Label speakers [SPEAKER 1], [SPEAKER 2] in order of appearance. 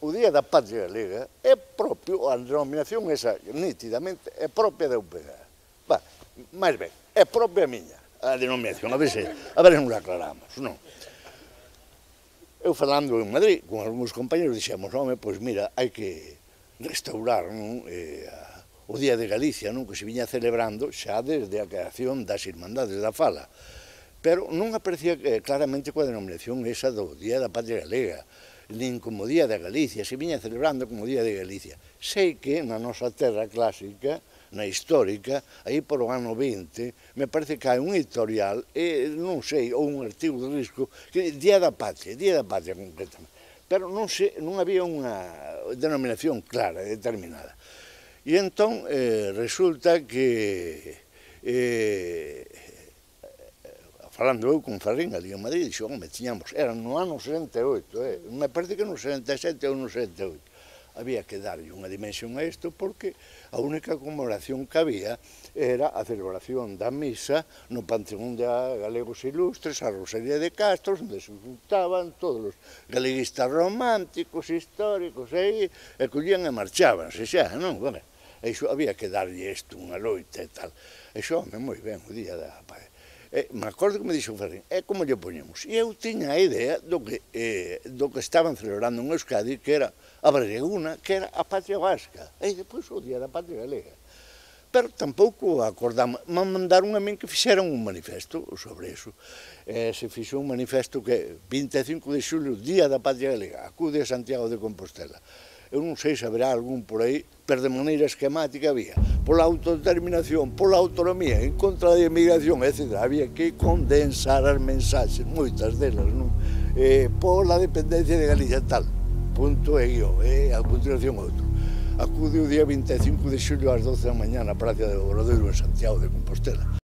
[SPEAKER 1] o Día da Patria Galega é propio, a denominación esa nítidamente é propia da UPG. Máis ben, é propia miña a denominación, a ver se nos aclaramos, non? Eu falando en Madrid con algúns compañeros dixemos, home, pois mira, hai que restaurar o Día de Galicia, non, que se viña celebrando xa desde a creación das Irmandades da Fala, pero non aparecía claramente coa denominación esa do Día da Patria Galega, nin como Día de Galicia, se viña celebrando como Día de Galicia. Sei que na nosa terra clásica, na histórica, aí por o ano 20, me parece que hai un editorial, non sei, ou un artigo de risco, que Día da Patria concretamente, pero non había unha denominación clara, determinada. E entón resulta que falando eu con Ferrín ali en Madrid, dixo, home, tiñamos, era no ano 68, me parece que no 77 ou no 78, había que darlle unha dimensión a isto porque a única conmemoración que había era a celebración da misa no Panteón de Galegos Ilustres, a Rosalía de Castro, onde se juntaban todos os galeguistas románticos, históricos, e collían e marchabanse xa, non? Iso había que darlle isto unha loita e tal. Iso, home, moi ben, o Día da Paz. Me acordo que me dixo Ferrín, como lle poñemos? E eu tiña a idea do que estaban celebrando en Euskadi, que era a Breguna, que era a Patria Vasca, e depois o Día da Patria Galega. Pero tampouco acordamos, me mandaron a min que fixeran un manifesto sobre iso. Se fixou un manifesto que 25 de xulio, Día da Patria Galega, acude a Santiago de Compostela. Eu non sei se haberá algún por aí, pero de maneira esquemática había pola autodeterminación, pola autonomía, en contra da emigración, etc. Había que condensar as mensaxes, moitas delas, non? Pola dependencia de Galicia, tal, punto e guión, a continuación outro. Acude o día 25 de xulio ás 12 da mañá na Praza do Obradoiro en Santiago de Compostela.